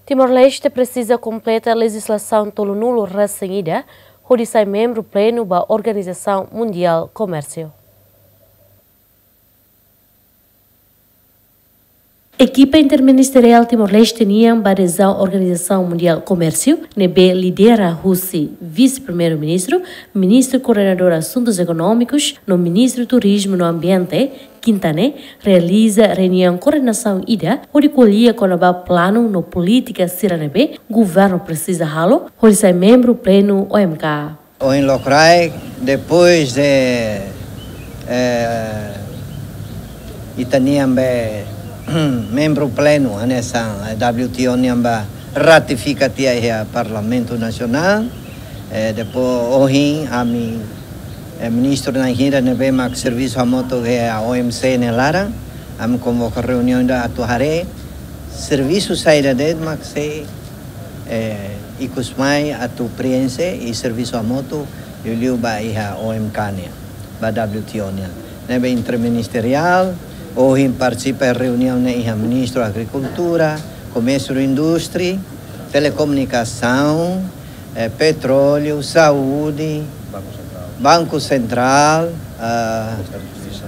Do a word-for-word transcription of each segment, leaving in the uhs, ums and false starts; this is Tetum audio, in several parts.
Timor-Leste presiza kompleta lejizlasaun tolunulu resin ida hodi sai membru plenu ba Organizasaun Mundiál Komérsiu. Ekipa interministeriál Timor-Leste nian ba adezaun Organizasaun Mundiál Komérsiu, ne'ebé lidera husi Vise-Primeiru-Ministru, Ministru Koordenadór Asuntus Ekonómikus, no Ministru Turizmu no Ambiente, kinta ne'e, realiza reuniaun koordenasaun ida, hodi ko'alia kona-ba planu no polítika sira ne'ebé governu presiza halo, hodi sai membru plenu O M K. Ohin lokraik, depois de, eh, ita-nian be membru plenu, hanesan, eh, W T O nian ba ratifika tiha iha Parlamentu Nasionál, eh, depois ohin ami, eh, ministru na'in hira ne'ebé mak servisu hamutuk iha O M C nia laran, ami konvoka reuniaun ida atu haree servisu saida de'it mak sei, eh, ikus mai atu prienxe i servisu hamutuk liuliu ba iha O M K nian, ba W T O nian. Ne'ebé interministeriál, ohin partisipa reuniaun ne'e iha Ministru Agrikultura, Komérsiu no Indústria, Telekomunikasaun, eh, Petróleu, Saúde, Banku Sentrál, ah,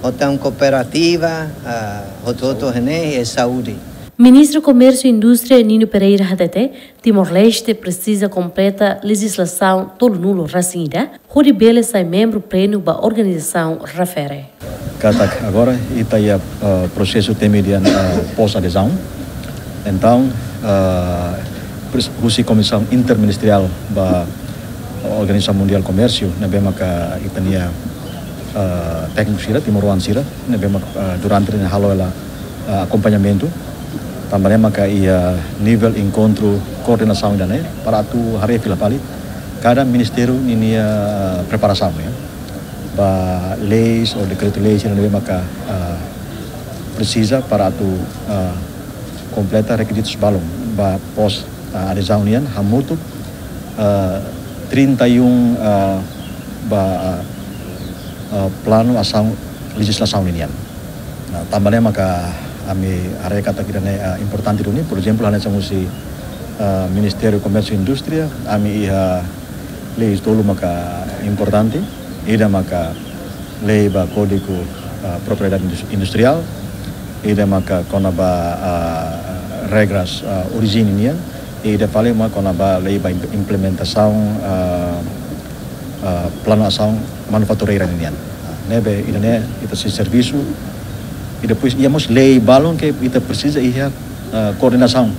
hotu-hotu kooperativa, ah, hotu-hotu ne'e, eh, saúde. Ministru Komérsiu Indústria Nino Pereira hatete, Timor-Leste presiza kompleta lejizlasaun tolunulu resin ida, hodi bele sai membru plenu ba organizasaun refere. Katak agora ita iha, eh, prosesu temi dehan, eh, pós-adezaun. Entaun, eh, pres-, husi Komisaun Interministeriál ba Organizasaun Mundiál Komérsiu, ne'ebé maka ita-nia, eh, tékniku sira, timoroan sira, ne'ebé maka, eh, durante ne'e halo hela, eh, akompañamentu. Tanba ne'e maka iha nivel enkontru koordenasaun ida-ne'e, para atu haree fila fali kada ministériu ninia preparasaun, ya. Ba leis ou dekretu-lei sira ne'ebé maka, ah, presiza para atu, ah, kompleta rekizitus balun ba pós, ah, adezaun nian hamutuk, ah, trinta e um, ah, ba, ah, ah, planu asaun lejizlasaun nian. Nah, tanba ne'e maka ami haree katak ida-ne'e, ah, importante duni, por ezemplu, hanesan husi, ah, Ministériu Komérsiu Indústria, ami iha leis tolu maka importante, ida maka lei ba Kódigu, ah, Propriedade Indus-, Industriál, ida maka kona-ba, ah, regras, ah, orijin nian, i ida fali maka kona-ba lei ba imp-, implementasaun, ah, ah, planu asaun manufatureira nian. Ah, ne'ebé ida-ne'e ita sei servisu, i depois iha mós lei balun ke ita presiza iha, ah, koordenasaun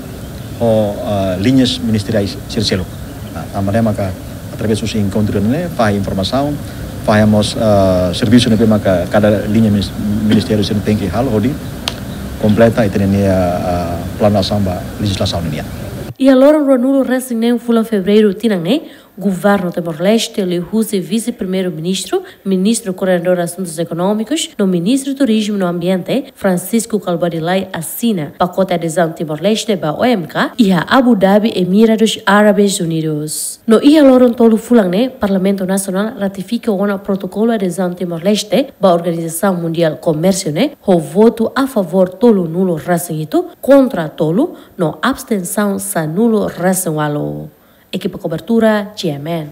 ho, ah, liñas ministeriais sira seluk. Ah, tanba ne'e maka através husi enkontru ne'e, fahe informasaun, fahe mós, ah, servisu ne'ebé maka kada liña minis-, ministériu sira tenke halo hodi kompleta ita-nia, ah, planu asaun ba lejizlasaun nian. Iha loron ruanulu resin neen fulan Fevereiru tinan ne'e, Governu Timor-Leste, liuhusi Vise-Primeiru-Ministru, Ministru Koordenadór Asuntus Ekonómikus, no Ministru Turizmu no Ambiente, Francisco Kalbuadi Lay, asina pakote adezaun Timor-Leste ba O M K, iha Abu Dhabi, Emirados Árabes Unidos. No iha loron tolu fulan ne'e, Parlamentu Nasionál ratifika ona protokolu adezaun Timor-Leste ba Organizasaun Mundiál Komérsiu ne'e, ho votu a favór tolunulu resin hitu, kontra tolu, no abstensaun sanulu resin ualu. Ekipa kobertura, G M N.